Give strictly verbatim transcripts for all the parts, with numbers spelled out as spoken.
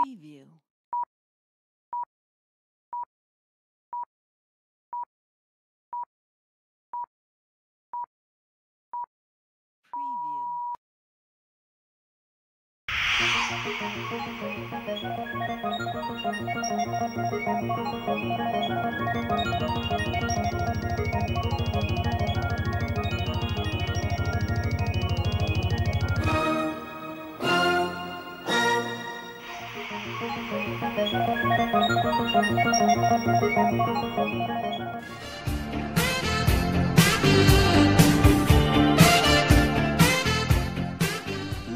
Preview. Preview.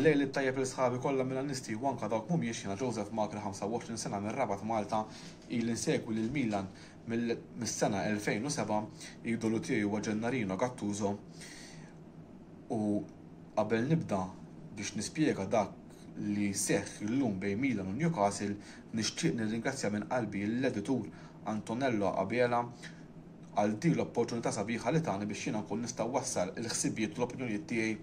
Lejl it-tajjeb lil sħabi kollha Milanisti u anke dawk mhumiex. Jiena Joseph Magri, ħamsa u għoxrin sena minn Rabat, Malta, ili nsegwi lil Milan mis-sena elfejn u sebgħa. Idolu tiegħi huwa Gennarino Gattuso u qabel nibda biex nispjega dak li seħħ illum bejn Milan u Newcastle, nixtieq nirringrazzja minn qalbi l-editur Antonello Abela għal din l-opportunità sabiħa li tani biex jiena nkun nista' wassal il-ħsibijiet u l-opinjonijiet tiegħi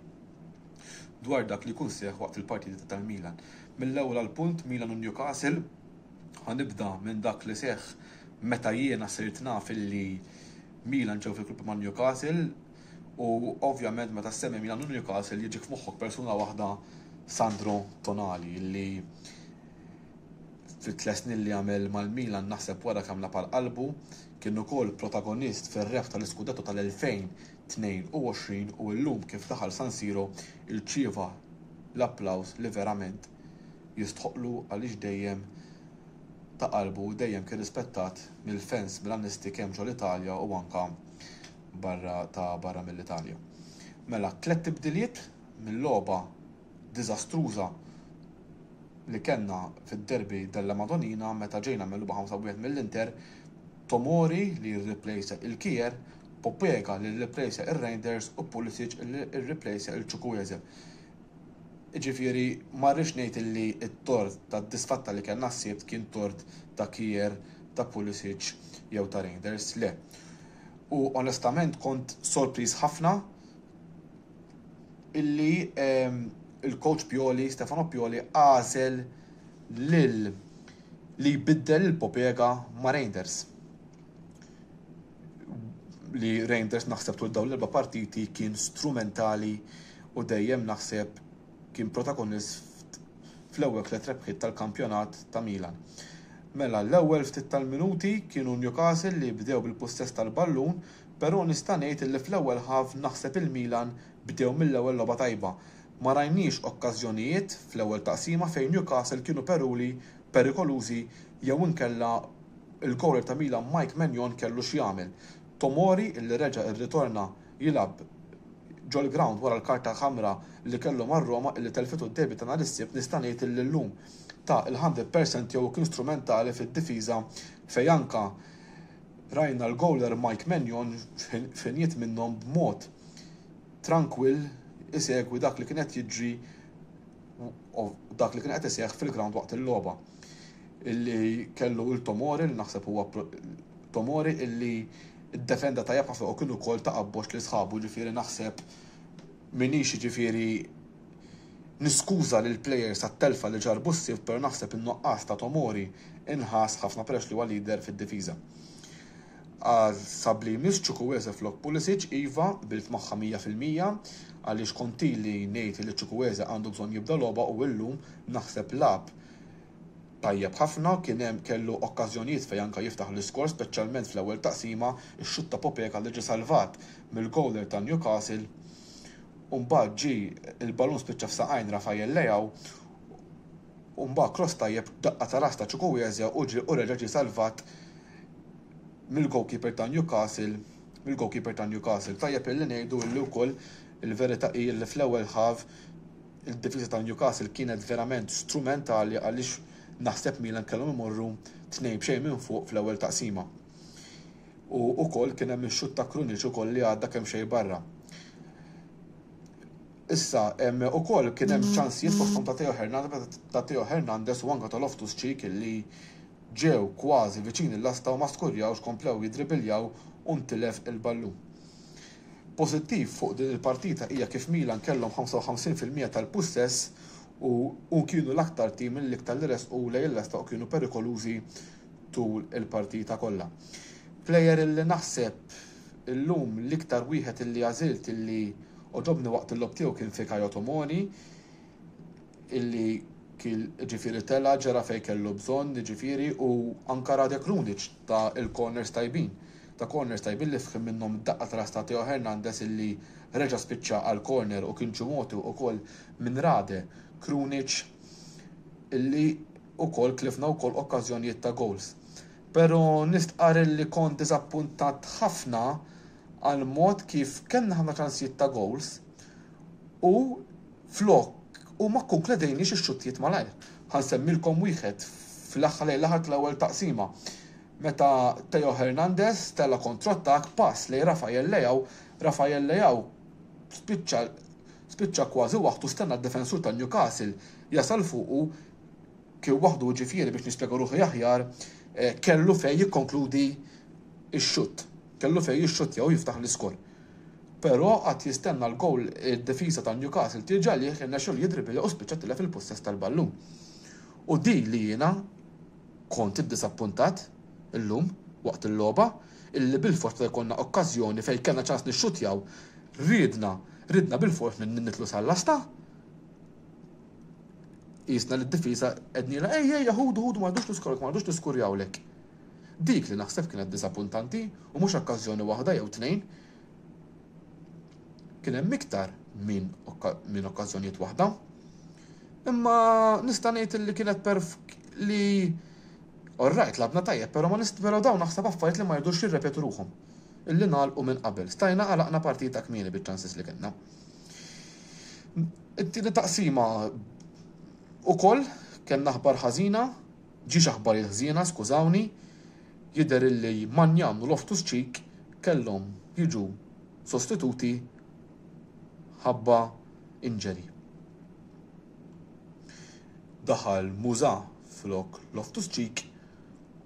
dwar dak li jkun seħ waqt il-partita tal-Milan. Mill-ewwel għal punt, Milan u Newcastle, ħa nibda minn dak li seħ meta jiena sirt naf illi Milan ġew fil-grupp ma' Newcastle u ovvjament meta semmi Milan u Newcastle jiġik f'moħħok persuna waħda, Sandro Tonali, li fit-tliet snin li għamel mal-Milan naħseb wara kemm lagħab qalbu, kien ukoll protagonist fir-rebħ tal-Iskudetto tal-elfejn u tnejn u għoxrin u llum kif daħal San Siro irċieva l-applaws li verament jistħoqlu għaliex dejjem ta' qalbu, dejjem kien rispettat mill-fans Milanisti kemm ġol Italja u anka barra ta' barra mill-Italja. Mela, tliet tibdiliet mill-logħba diżastruża li kellna fid-derby della Madonnina meta ġejna megħluba ħamsa wieħed mill-Inter: Tomori li jirreplejsa lil Kjaer, Pobega li rreplejsa lil Reijnders u Pulisic li rreplejsa lil Chukwueze. Ġifieri, ma rridx ngħid li t-tort ta' disfatta li kellna s-Sibt kien tort ta' Kjaer, ta' Pulisic jew ta' Reijnders, le. U onestament kont sorpriż ħafna illi ehm, il-coach Pioli, Stefano Pioli, għażel lil li jbiddel il-Pobega ma' Reijnders. Li Reijnders naħseb tul dawn l-erba' partiti kien strumentali u dejjem naħseb kien protagonist fl-ewwel tliet rebħiet tal-kampjonat ta' Milan. Mela, l-ewwel ftit tal-minuti kienu Newcastle li bdew bil-possess tal-ballun, però nista' ngħid li fl-ewwel half naħseb il-Milan bdew mill-ewwel logħba tajba. Ma rajniex okkażjonijiet fl-ewwel taqsima fejn Newcastle kienu peruli perikolużi jew inkella il-goaler ta' Milan Mike Maignan kellu x'jagħmel. Tomori, illi reġa' irritorna jilgħab ġol ground wara l-karta ħamra li kellu mar Roma illi telfitu d-derby ta' nhar is-Sibt, nista' ngħid illi llum ta l-mija fil-mija tiegħu, kien strumentali fid-difiża fejn anka rajna l-goaler Mike Maignan f'ħinijiet minnhom b'mod trankwill isegwi dak li kien qed jiġri u dak li kien qed iseħħ fil-ground waqt il-logħba. Illi kellu il-Tomori, li naħseb huwa Tomori illi ddefenda tajjeb ħafna u kienu wkoll ta' appoġġ li sħabu. Ġifieri naħseb minix ġifieri niskuża lil players għat-telfa li ġarbu s-Sibt, però naħseb in-nuqqas ta' Tomori inħass ħafna peress li huwa leader fid-difiża. Għal sub li jmiss, Chukwueze flok Pulisic, iva, qbilt magħha mija fil-mija għaliex kont ili ngħid li Chukwueze għandu bżonn jibda logħba u illum naħseb lagħab tajjeb ħafna, kien hemm kellu okkażjonijiet fejn anka jiftaħ l-iskor, speċjalment fl-ewwel taqsima, ix-xutt ta' Pobega li ġie salvat mill-goaler ta' Newcastle. U mbagħad ġi il-ballun spiċċa f'saqajn Rafael Leao u mbagħad cross tajjeb, daqqa ta' ras ta' Chukwueze u ġi u reġa' ġie salvat mill-goalkeeper ta' Newcastle mill-goalkeeper ta' Newcastle. Tajjeb illi ngħidu illi wkoll il-verità hi li fl-ewwel half il-difiża ta' Newcastle kienet verament strumentali għaliex naħseb Milan kellhom imorru tnejn b'xejn minn fuq fl-ewwel taqsima. U wkoll kien hemm ix-xutt ta' Krunic ukoll li għadda kemm xejn barra. Issa, hemm ukoll kien hemm ċansijiet fosthom ta' Theo Hernandez, ta' Theo Hernandez u anke ta' Loftus-Cheek illi ġew kważi viċin il-lasta u ma skurjawx, komplew jidribiljaw u ntilef il-ballun. Pożittiv fuq din il-partita hija kif Milan kellhom ħamsa u ħamsin fil-mija tal-pussess u, u kienu l-aktar tim l-iktar li resqu lejn il-lesta u kienu perikolużi tul il-partita kollha. Player illi naħseb illum l-iktar wieħed illi għażilt illi għoġobni waqt il-logħob tiegħu kien Fikayo Tomori, illi kien ġifieri tela ġera fejn kellu bżonn, ġifieri, u anka Rade Krunic ta' il-corners tajbin. Ta' corners tajbin li fħim minnhom daqqa ta' ta' Theo Hernandez illi reġa' spiċċa għal corner u kien ġumotu ukoll minn Rade Krunic illi ukoll tlifna wkoll okkażjonijiet ta' goals. Pero nistqar illi kont diżappuntat ħafna għal mod kif kellna ħafna ċansijiet ta' goals u flok u ma kkonkludejniex ix-xuttijiet malajr. Ħa nsemmilkom wieħed fl-aħħar lejn l-aħħar tal-ewwel taqsima. Meta Theo Hernandez tella kontrottak pass lejn Rafael Leao, Rafael Leao spiċċa spiċċa kważi waħdu stenna d-defensur ta' Newcastle jasal fuqu kien waħdu, ġifieri biex nispjega ruħi aħjar, eh, kellu fej jikkonkludi x-xutt. Kellu fej jixxuttja u jiftaħ l-iskor. Però qatt jistenna l-gowl id-difiża ta' Newcastle tiġi għalih, irnexxielu jidribbilja u spiċċa tilef il-possess tal-ballun. U di li jiena kont iddisappuntat illum waqt il-logħba, illi bil-fors meta jkollna okkażjoni fejn kellna ċans nixxutjaw, ridna ridna bil-fors nitlu sal-lasta. Jisna li d-difiża ednila, ej, ej, ħudu, ħudu, ma rridux niskurjawlek, ma rridux niskurjawlek. Dik li naħseb kienet disappuntanti u mhux okkażjoni waħda jew tnejn. Kien hemm iktar minn minn okkażjonijiet waħda. Imma nista' ngħid li kienet perf li Alright, lgħabna tajjeb, però ma nist però dawn naħseb affarijiet li ma jridux jirrepetu ruħhom. Illi nagħlqu minn qabel. Stajna għalaqna partita kmieni biċ-chances li kellna. It-tieni taqsima ukoll kellna aħbar ħażina, ġiex aħbarijiet ħżiena, skużawni, jidher illi Maignan u Loftus-Cheek kellhom jiġu sostituti ħabba injury. Daħal Musa flok Loftus-Cheek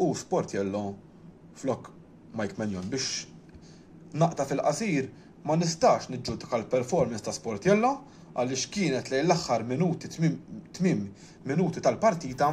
u Sportiello flok Mike Maignan. Biex naqta' fil-qasir, ma nistax niġġudika l-performance ta' Sportiello għaliex kienet lejn l-aħħar minuti, tmiem minuti tal-partita.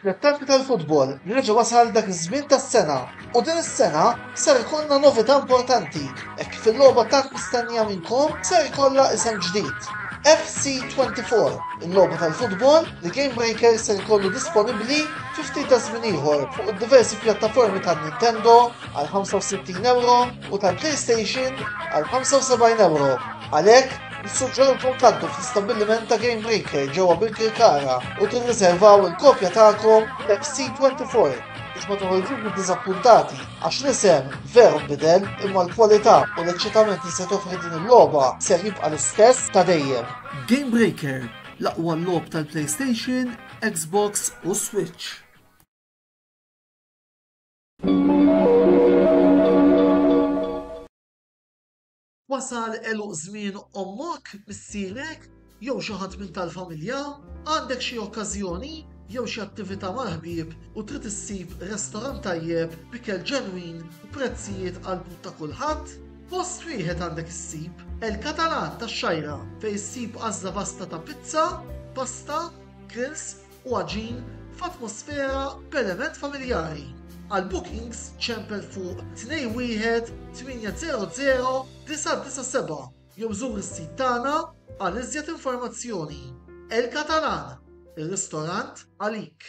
Trattanti tal-futbol, reġa' wasal dak iż-żmien tas-sena u din is-sena ser ikollna novità importanti hekk kif il-logħba tant mistennija minnkom ser ikollha isem ġdid. F C twenty-four, il-logħba tal-futbol li Game Breaker ser ikollu disponibbli fi ftit ta' żmien ieħor fuq id-diversi pjattaformi tan-Nintendo għal ħamsa u sittin euro u tal-PlayStation għal ħamsa u sebgħin euro. Għalhekk, nissuġġerulkom tgħaddu fl-istabbiliment ta' Game Breaker ġewwa Birkirkara u tirriservaw il-kopja tagħkom F C twenty-four biex ma toħorġux diżappuntati, għax l-isem veru nbidel, imma l-kwalità u l-eċċitament li se toffri din il-logħba ser jibqa' l-istess ta' dejjem. Game Breaker, l-aqwa logħob tal-PlayStation, Xbox u Switch. Wasal għeluq żmien ommok, missierek, jew xi ħadd minn tal-familja, għandek xi okkażjoni jew xi attività mal-ħbieb u trid issib restorant tajjeb b'ikel ġenwin u prezzijiet għal ta' kulħadd? Post wieħed għandek issib, El Catalan tax-Xgħajra, fejn issib għażla vasta ta' pizza, pasta, grills u għaġin f'atmosfera b'element familjari. Għal bookings ċempel fuq tnejn wieħed tmienja żero żero disa' disa' seba' jew żur is-sit tagħna għal iżjed informazzjoni. El Catalan, Ir-ristorant għalik.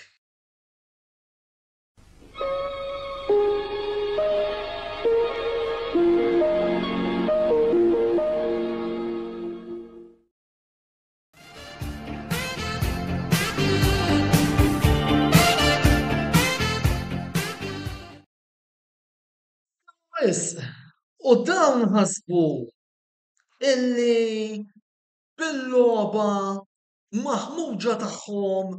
Wisq, u dawn ħasbu illi bil-logħba maħmuġa tagħhom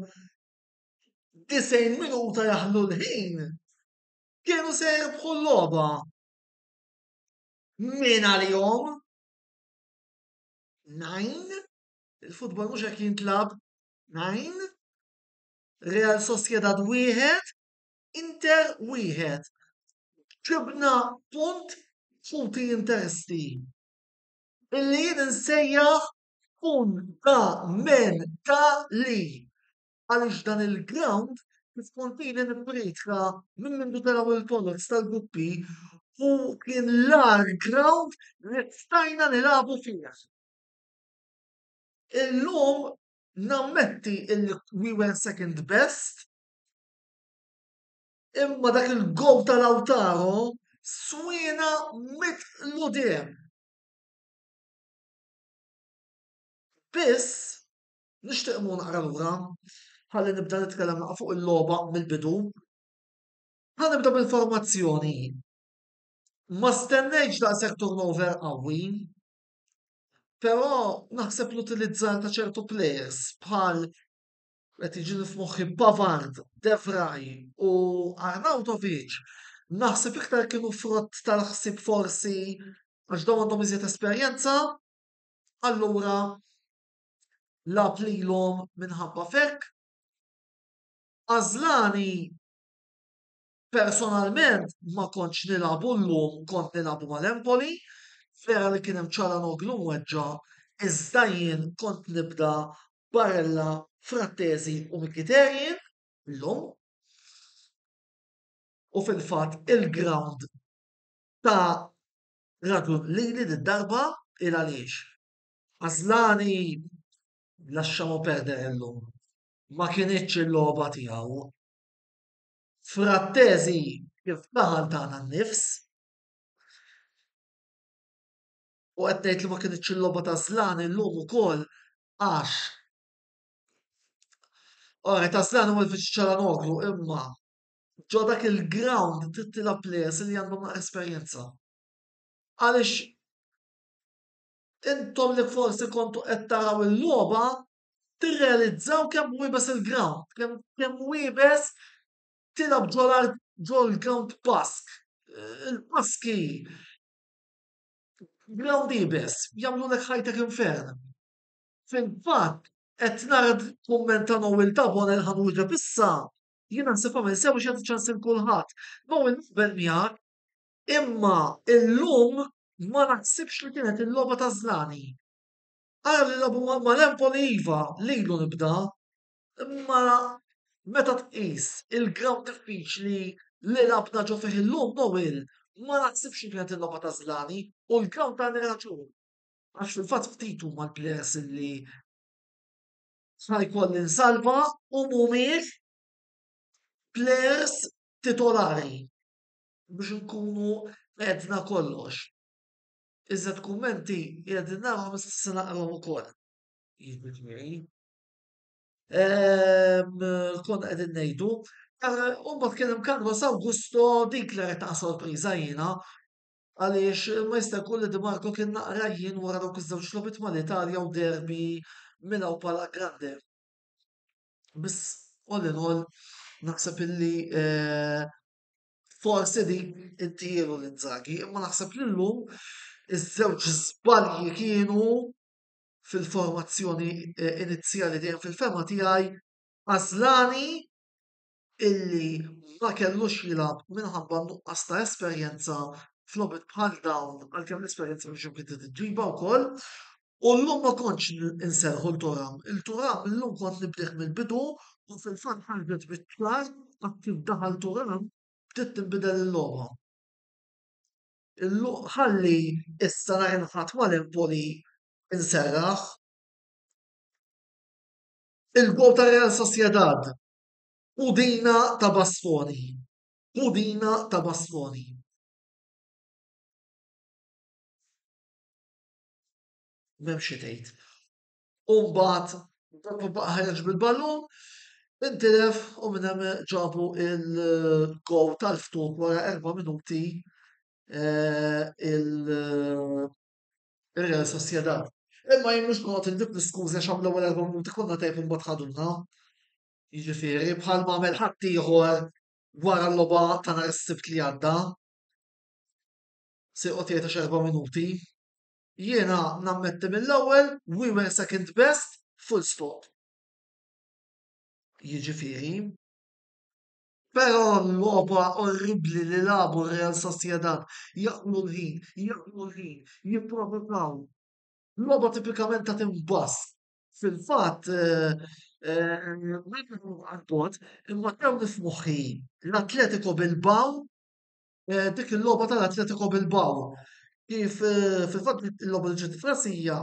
disgħin minuta jaħlu l-ħin kienu se jirbħu l-logħba. Min għalihom? Nine? Il-futbol mhux hekk jintlab. Nine? Real Sociedad wieħed, Inter wieħed. Ġibna punt ħuti Interisti. Illi jien insejjaħ fundamentali. Għaliex dan il-ground kif kont ili nippriedka minn mindu telgħu il-polls tal-gruppi u kien l-agħar ground li stajna nilagħbu fih. Illum nammetti illi we were second best, imma dak il-goal ta' Lautaro swiena mitlu diem. Biss, nixtieq imur naqra lura, ħalli nibda nitkellem naqra fuq il-logħba mill-bidu. Ħa nibda bil-formazzjoni. Ma stennejtx daqshekk turnover qawwi, però naħseb l-utilizzar ta' ċertu players bħal qed jiġini f'moħħi Pavard, De Vrij u Arnautovic, naħseb iktar kienu frott tal-ħsieb forsi għax dawn għandhom iżjed esperjenza, allura lagħab lilhom minħabba f'hekk. Asllani personalment ma kontx nilagħbu llum, kont nilagħbu mal-Empoli, vera li kien hemm Çalhanoğlu mweġġa', iżda jien kont nibda Barella, Frattesi u Mkhitaryan llum. U fil-fatt il-ground ta' raġun lili d-darba il għaliex. Asllani lasciamo perdere llum. Ma kinitx il-logħba tiegħu. Frattesi kif daħal tana n-nifs. U qed ngħid li ma kinitx il-logħba ta' Asllani llum ukoll għax Ora, ta' Asllani huwa l-viċi Çalhanoğlu imma ġo dak il-ground trid tilgħab players li għandhom esperjenza. Għaliex intom li forsi kontu qed taraw il-logħba tirrealizzaw kemm iebes il-ground, kemm kemm iebes tilgħab ġol ġol ground Bask. Il-Baski ground iebes, jagħmlulek ħajtek infern. Fil-fatt, qed nara kumment ta' Noel Tabonel ħa nwieġeb issa, jiena naħseb għamel sew biex jagħti ċans lil kulħadd. Noel naqbel miegħek, imma illum ma naħsibx li kienet il-logħba ta' Asllani. Ara li lagħbu mal-Empoli iva, lilu nibda, imma meta tqis il-ground diffiċli li lagħabna ġo fih illum Noel, ma naħsibx li kienet il-logħba ta' Asllani u l-ground tani raġun. Għax fil-fatt ftit huma l-players li ħa jkolli nsalva u mhumiex players titolari biex nkunu għedna kollox. Iżda kummenti qegħdin narahom issa se naqrahom ukoll. Jiġifieri. Ehm, konna qegħdin ngħidu. U mbagħad kien hemm Carlos Augusto, dik li rajt sorpriża jiena għaliex ma jista' jkun li Di Marco kien naqra jien wara dawk iż-żewġ logħbiet mal-Italja u derby Milan pala grande. Biss all in all naħseb illi eh, forsi dik intielu l-Inzaghi, imma naħseb li llum iż-żewġ żbalji kienu fil-formazzjoni eh, inizjali dejjem fil-fehma tiegħi, Asllani illi ma kellux jilgħab minħabba nuqqas ta' esperjenza f'logħbiet bħal dawn, għalkemm l-esperjenza mhux imkien tiġġiba wkoll. U llum ma kontx inserħu lil Thuram. Lil Thuram illum kont nibdih mill-bidu u fil-fatt ħarġet biċ-ċar kif daħal Thuram bdiet tinbidel il-logħba. Ħalli issa nhar il-Ħadd mal-Empoli inserraħ. Il-gol ta' Real Sociedad. Pudina ta' Bastoni. Pudina ta' Bastoni. M'hemm xi tgħid. U mbagħad dopo baqa' ħareġ bil-ballun, intilef u minn hemm ġabu il-gowl tal-ftuħ wara erba' minuti eh, il- il-Real Sociedad. Imma jien mhux noqgħod inġib l-iskużi għax l-ewwel erba' minuti konna tajb imbagħad ħaduna. Jiġifieri bħal ma għamel ħaddieħor wara l-logħba ta' nhar is-Sibt li għadda. Se joqgħod jgħid għax erba' minuti. Jiena nammetti mill-ewwel we were second best, full stop. Jiġifieri. Però l-logħba orribbli li lagħbu Real Sociedad, jaqlu l-ħin, jaqlu l-ħin, jipprovokaw. Logħba tipikament ta' tim Bask. Fil-fatt, għal-bogħod, imma tewni f'moħħi l-Atletico Bilbao, dik il-logħba tal-Atletico Bilbao. Kif fil-fatt il-logħba li ġiet f'rasi hija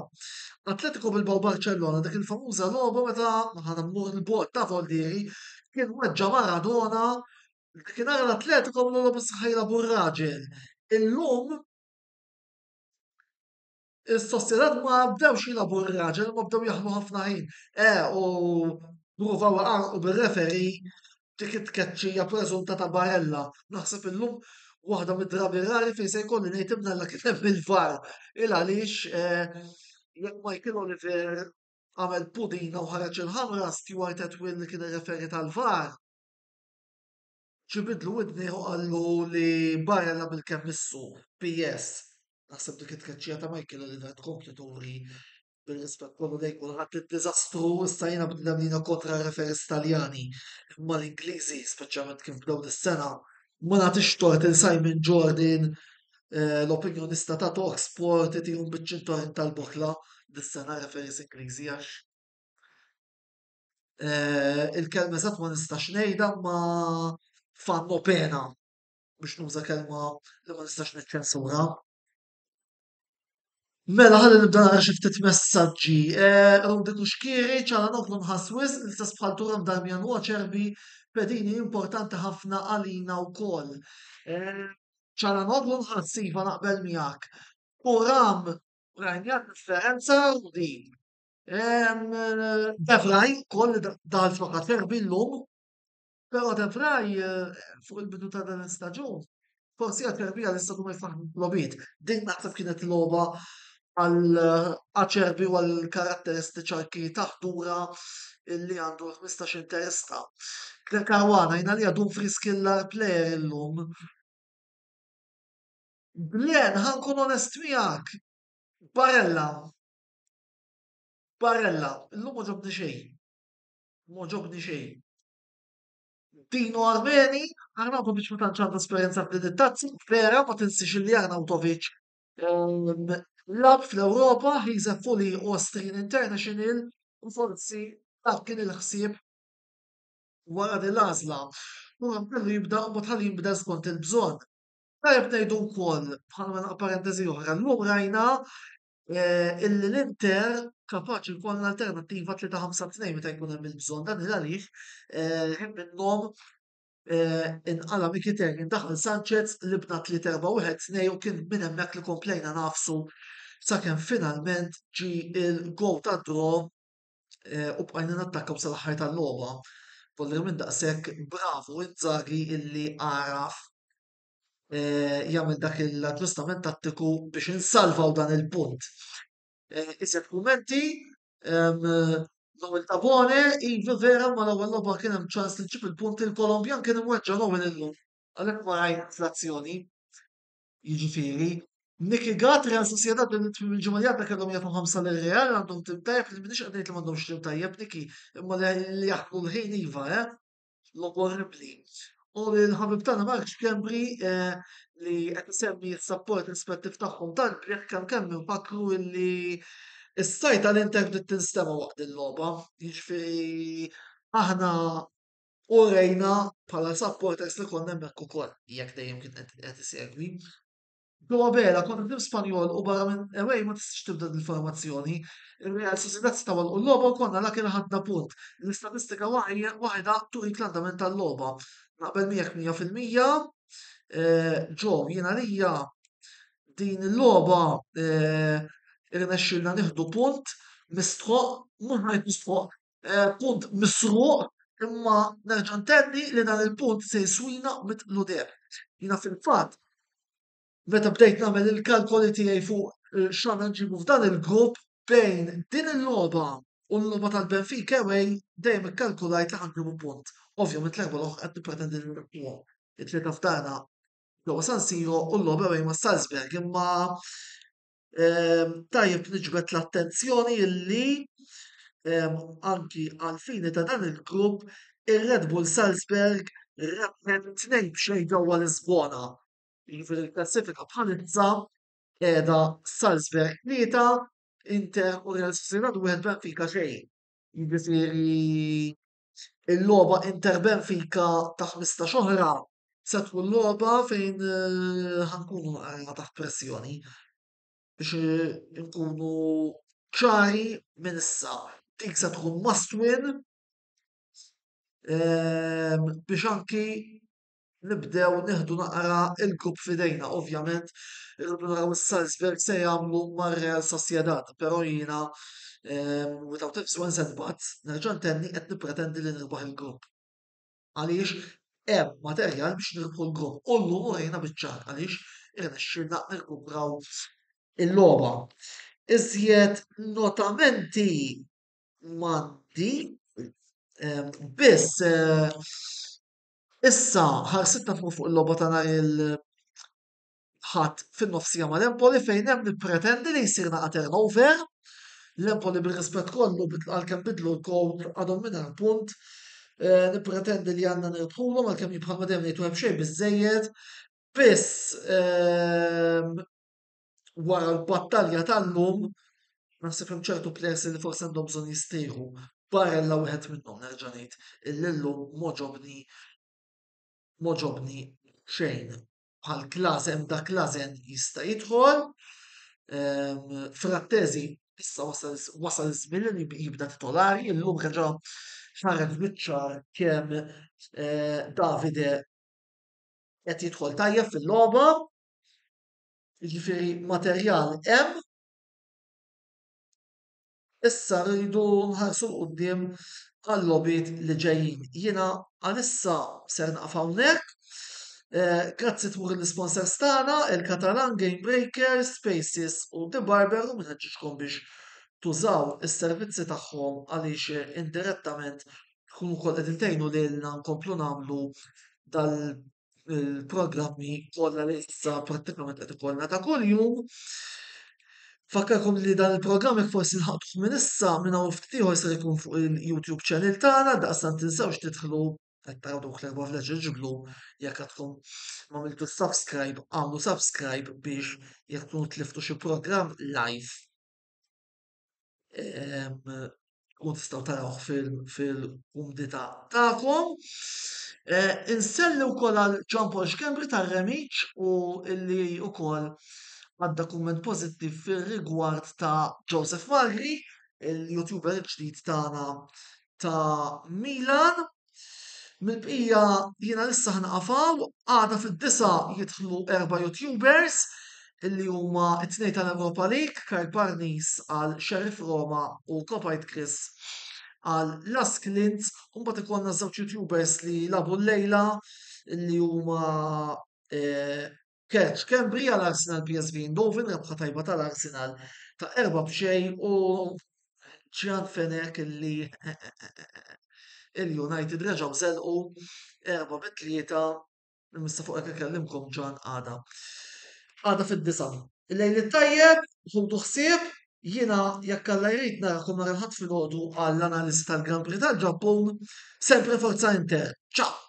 Atletico Bilbao Barcellona, dik il-famuża logħba meta ħa mmur il-bogħod ta' Voldieri kien weġġa' Maradona, dakinhar l-Atletico għamlu logħba saħħa jilagħbu r-raġel. Illum is-Sociedad ma bdewx jilagħbu r-raġel, ma bdew jaħlu ħafna ħin. Eh, u pruvaw iqarrqu bir-referee dik it-tkeċċija preżunta ta' Barella. Naħseb illum waħda mid-drabi rari fejn se jkolli ngħid imnalla kien hemm il-VAR. Il għaliex eh, jekk Michael Oliver għamel pudina u ħareġ il-ħamra Stuart Atwill li kien ir-referi tal-VAR. Ġibidlu widni u qallu li Barella bil-kemm missu. P S. Naħseb dik it-tkeċċija ta' Michael Oliver tkompli turi bil-rispett kollu lejn kulħadd id-diżastru. Issa jiena bniedem li jiena kontra referis Taljani, imma l-Ingliżi, speċjalment kif bdew dis-sena, ma nagħtix tort il Simon Jordan, eh, l-opinjonista ta' Talk Sport, itihom biċ-ċintorin tal-boħla dis-sena referis Ingliżi għax eh, il-kelma eżatt ma nistax ngħidha, ma fanno pena biex nuża kelma li ma nistax niċċensura. Mela ħalli nibda nara xi ftit messaġġi. Eh, Rudi Kuxkiri, Calhanoglu nħass wisq, l-istess bħal Thuram, Darmian u Acerbi, pedini importanti ħafna għalina wkoll. Eh, Calhanoglu nħass, iva, naqbel miegħek. Thuram rajna differenza, Rudi. De Vrij ukoll daħal flok Acerbi llum, però De Vrij eh, fuq il-bidu ta' dan l-istaġun forsi Acerbi għal-istadu ma jfaħ logħbiet. Din naħseb kienet logħba għal Acerbi u għal karatteristiċi anki taħdura illi għandu l-ħmistax interista. Caruana, jina li għadu Dumfries killer player illum. Glenn, ħa nkun onest miegħek. Barella. Barella, illum ma ġobni xejn. Ma ġobni xejn. Dino Armeni, Arnautovic ma tantx għandu esperjenza f'din it-tazza, vera, ma tinsiex li Arnautovic ehm, lagħab fl-Ewropa, he's a fully Austrian international, u forsi dak kien il-ħsieb wara din l-għażla. U kellu jibda u tħalli jinbidel skont il-bżonn. Tajjeb ngħidu wkoll, bħala parentesi oħra, llum rajna eh, illi l-Inter kapaċi jkollna alternattiva tlieta ħamsa tnejn meta jkun hemm il-bżonn. Dan il għaliex eh, ħin minnhom eh, inqala Mkhitaryan, daħal Sanchez, lgħabna tlieta erba' wieħed tnejn u kien minn hemmhekk li komplejna nagħfsu sakemm finalment ġi il-goal ta' draw u bqajna nattakkaw sal-aħħar tal-logħba. Volli minn daqshekk bravo Inzaghi illi għaraf jagħmel dak l-aġġustament tattiku biex insalvaw dan il-punt. Iżjed kummenti, Noel Tabone, iva vera, ma l-ewwel logħba kien hemm ċans li ġib il-punt, il-Kolombjan kien imweġġa' Noel illum. Għalhekk ma rajna fl-azzjoni. Jiġifieri, Nicky Gatt, Real Sociedad il-ġimgħa li għadda kellhom jagħtu ħamsa lil Real, għandhom tim tajjeb, li m'iniex qed ngħid li m'għandhomx tim tajjeb, Nicky, imma li jaħlu l-ħin iva, eh? Logħba orribli. U l-ħabib tagħna Mark Schembri eh, li qed isemmi s-support rispettiv tagħhom tal-Brek, kemm kemm infakru illi is-sajta l-Inter bdiet tinstema' waqt il-logħba. Jiġifieri aħna urejna bħala supporters li konna hemmhekk ukoll, jekk dejjem kien qed isegwi. Joe Abela kontra tim Spanjol u barra minn away ma tistax tibda il-formazzjoni. Il-Real Sociedad setgħu għalqu l-logħba u konna lucky li ħadna punt. L-istatistika waħda turik l-andament tal-logħba. Naqbel miegħek mija fil-mija. Ġo, jiena lija din il-logħba irnexxielna nieħdu punt mistħoq, mhux ngħid mistħoq, punt misruq, imma nerġa' ntenni li dan il-punt se jiswina mitlu deheb. Jiena fil-fatt meta bdejt nagħmel il-kalkoli tiegħi fuq x'għandna nġibu f'dan il-grupp bejn din il-logħba u l-logħba tal-Benfica away, dejjem ikkalkulajt li ħanġibu punt. Ovvjament l-erba' l-oħra qed nippretendi li nirbuhom. It-tlieta f'darna ġewwa San Siro u l-logħba away ma' Salzburg, imma tajjeb niġbed l-attenzjoni illi anki għal-fini ta' dan il-grupp ir-Red Bull Salzburg rebħet tnejn b'xejn ġewwa Lisbona. Jiġifieri l-klassifika bħalissa qiegħda Salzburg tlieta, Inter u Real Sociedad wieħed, Benfica xejn. Jiġifieri il-logħba Inter Benfica ta' ħmistax oħra se tkun logħba fejn ħankunu naqra taħt pressjoni biex nkunu ċari minn issa. Dik se tkun must win biex anki nibdew nieħdu naqra il-grupp f'idejna. Ovvjament, irridu naraw is-Salzburg se jagħmlu mar-Real Sociedad, però jiena, without ifs, ands and buts, nerġa' ntenni, qed nippretendi li nirbaħ il-grupp. Għaliex hemm materjal biex nirbħu l-grupp. U llum urejna biċ-ċar għaliex irnexxielna nirkupraw il-logħba. Iżjed notamenti m'għandi, biss issa ħarsitna tmur fuq il-logħba ta' nhar il-Ħadd fin-nofsija mal-Empoli, fejn hemm nippretendi li jsir naqa' turnover. L-Empoli, bir-rispett kollu, għalkemm bidlu l-coach, għadhom mingħajr punt. Nippretendi li għandna nirbħulhom, għalkemm bħalma dejjem ngħidu hemm xejn biżejjed. Biss wara l-battalja tal-lum naħseb hemm ċertu players li forsi għandhom bżonn jistrieħu. Barella wieħed minnhom, nerġa' ngħid illi llum m'għoġobni m'għoġobni xejn. Bħal Klasen, da Klasen jista' jidħol. Frattesi issa wasal iż-żmien li jibda titolari, illum reġa' ħareġ biċ-ċar kemm Davide qed jidħol tajjeb fil-logħba. Jiġifieri materjal hemm. Issa rridu nħarsu 'l quddiem għal-logħbiet li ġejjin. Jiena għalissa ser naqaf hawnhekk. Grazzi tmur l-sponsors tagħna, il-Catalan, Game Breaker, Spaces u The Barber, u nħeġġiġkom biex tużaw is-servizzi tagħhom għaliex indirettament tkunu wkoll qegħdin tgħinu lilna nkomplu nagħmlu dal-programmi kollha li issa prattikament qed ikollna ta' kuljum. Fakkarkom li dan il-programm, jekk forsi lħaqtuh minn issa, minn hawn ftit ieħor ser ikun fuq il-YouTube channel tagħna, daqstant tinsewx tidħlu, qed taraw dawk l-erba' vleġeġ blu, jekk għadkom ma għamiltu subscribe, għamlu subscribe biex jekk tkunu tliftu xi programm live tkun tistgħu tarawh fil-kumdità tagħkom. Inselli wkoll għal Jean Paul Schembri tar-Remiċ u illi wkoll għadda kumment pożittiv fir-rigward ta' Joseph Magri, il-YouTuber ġdid tagħna ta' Milan. Mill-bqija jiena issa ħa nieqaf hawn, għada fid-disgħa jidħlu erba' YouTubers illi huma t-tnejn tal-Europa League, Karl Parnis għal Sheriff Roma u Kopite Chris għal Lask Linz, u mbagħad ikollna żewġ YouTubers li lagħbu llejla, illi huma Kurt Schembri għal Arsenal P S V Eindhoven, rebħa tajba tal-Arsenal ta' erba' b'xejn, u Gian Fenech illi il-United reġgħu żelqu erba' bi tlieta. Mista fuq hekk ikellimkom Ġan għada. Għada fid-disgħa. Il-lejl it-tajjeb, ħudu ħsieb, jiena jekk Alla jrid narakom nhar il-Ħadd filgħodu għall-analiżi tal-Grand Prix tal-Ġappun. Sempre Forza Inter. Ciao!